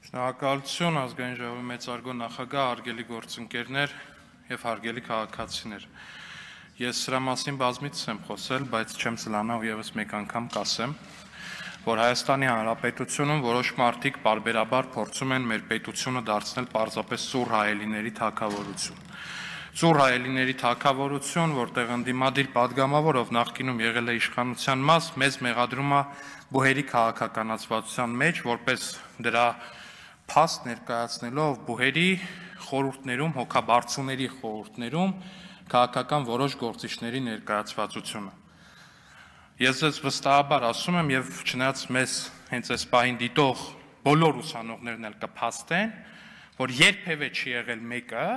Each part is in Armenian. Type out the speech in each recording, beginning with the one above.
Շնորհակալություն ազգային ժողովի մեծարգո նախագահ, հարգելի գործընկերներ եւ հարգելի քաղաքացիներ։ Ես սրա մասին բազմիցս եմ խոսել, բայց չեմ զլանա ու եւս մեկ անգամ կասեմ, որ Հայաստանի Հանրապետությունում որոշ մարդիկ բարբերաբար փորձում են մեր պետությունը դարձնել պարզապես սուր հայելիների թագավորություն։ Սուր հայելիների թագավորություն, որտեղ ընդդիմադիր падգամավորով նախկինում եղել է իշխանության մաս, մեզ մեղադրում է բուհերի քաղաքականացվածության մեջ, որպես դրա փաստ ներկայացնելով բուհերի խորհուրդներում, հոգաբարձուների խորհուրդներում քաղաքական որոշ գործիչների ներկայացվածությունը։ Ես ձեզ վստահաբար ասում եմ եւ չնայած մեզ հենց այս պահին դիտող բոլոր ուսանողներն էլ կփաստեն, որ երբևէ չի եղել մեկը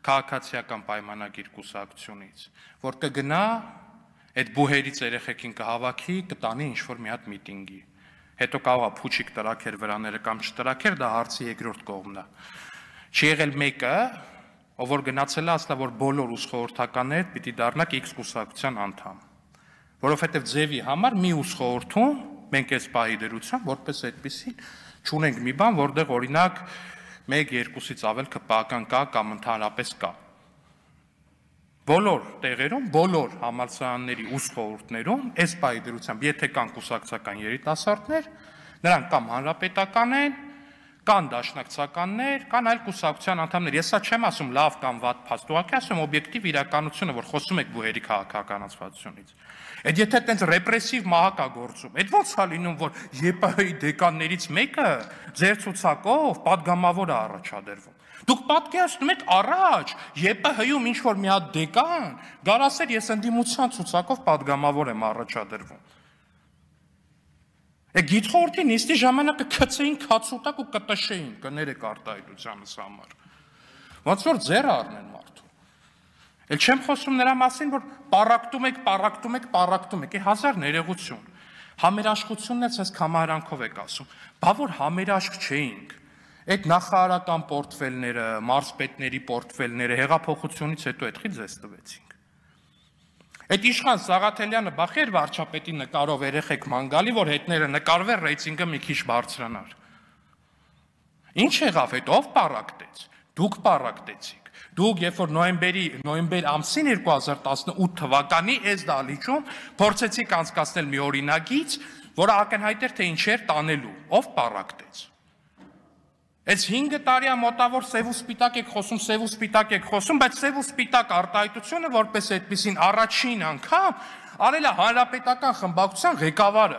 քաղաքացիական պայմանագիր կուսակցությունից, որ կգնա այդ բուհերից երեխեքին կհավաքի, կտանի ինչ-որ մի հատ միտինգի։ Հետո կարող է փուչիկ տրաքեր վրաները կամ չտրաքեր, դա հարցի երկրորդ կողմն է։ Չի եղել մեկը, ով որ գնացել է ասել, որ բոլոր ուսխորհրդականները պիտի դառնաք X կուսակցության անդամ։ Որովհետև ձևի համար մի ուսխորհրդում մենք այս պահի դրությամբ որպես այդպեսին չունենք մի բան, որտեղ օրինակ 1-2-ից ավել ԿՊԱ-ական կա կամ ընդհանրապես կա։ Բոլոր տեղերում, բոլոր համալսարանների ուսխորհուրդներում այս պահի դրությամբ, եթե կան կուսակցական երիտասարդներ, նրանք կամ հանրապետական են, կան դաշնակցականներ, կան այլ կուսակցության անդամներ։ Ես սա չեմ ասում լավ կամ վատ փաստ, ուղղակի ասում օբյեկտիվ իրականությունը, որ խոսում եք բուհերի քաղաքականացվածությունից։ Այդ եթե այդպես ռեպրեսիվ մահակ է գործում, այդ ո՞նց է լինում, որ ԵՊՀ-ի դեկաններից մեկը ձեր ցուցակով падգամավոր է առաջադրվում։ Դուք պատկերացնում եք առաջ ԵՊՀ-ում ինչ-որ մի հատ դեկան գար ասեր ես ընդդիմության ցուցակով падգամավոր եմ առաջադրվում։ Գիտխորհրդի նիստի ժամանակ կգցեին քացուտակ ու կտշեին, կներեք արտահայտությանս համար։ Ոնց որ ձեռ առնեն մարդու։ Էլ չեմ խոսում նրա մասին, որ պարակտում եք, հազար ներողություն։ Համերաշխությունն էլ ցես կամարանքով եք ասում, բա որ համերաշխ չէինք։ Այդ նախարարական պորտֆելները, մարզպետների պորտֆելները հեղափոխությունից հետո այդքիլ ձեզ տվեցինք։ Այդ իշխան Սաղաթելյանը բախեր վարչապետի նկարով երեխեք ման գալի, որ հետները նկարվեր ռեյտինգը մի քիչ բարձրանար։ Ինչ եղավ այդ, ով պարակտեց։ Դուք պարակտեցիք։ Դուք երբ որ նոյեմբեր ամսին 2018 թվականի այս դահլիճում փորձեցիք անցկացնել մի օրինագիծ, որը ակնհայտ էր թե ինչ էր տանելու, ով պարակտեց։ Այս 5 տարի մոտավոր սև ու սպիտակ եք խոսում, բայց սև ու սպիտակ արտահայտությունը որպես այդպեսին առաջին անգամ արել է հանրապետական խմբակցության ղեկավարը։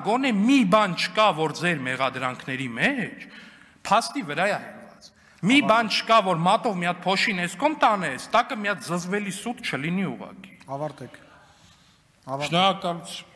Գոնե մի բան չկա, որ ձեր մեղադրանքների մեջ փաստի վրա է հենված։ Մի բան չկա, որ մատով մի հատ փոշին էսկոմ տանես, տակը մի հատ զզվելի սուտ չլինի ուղղակի։ Ավարտեք։ Շնորհակալություն։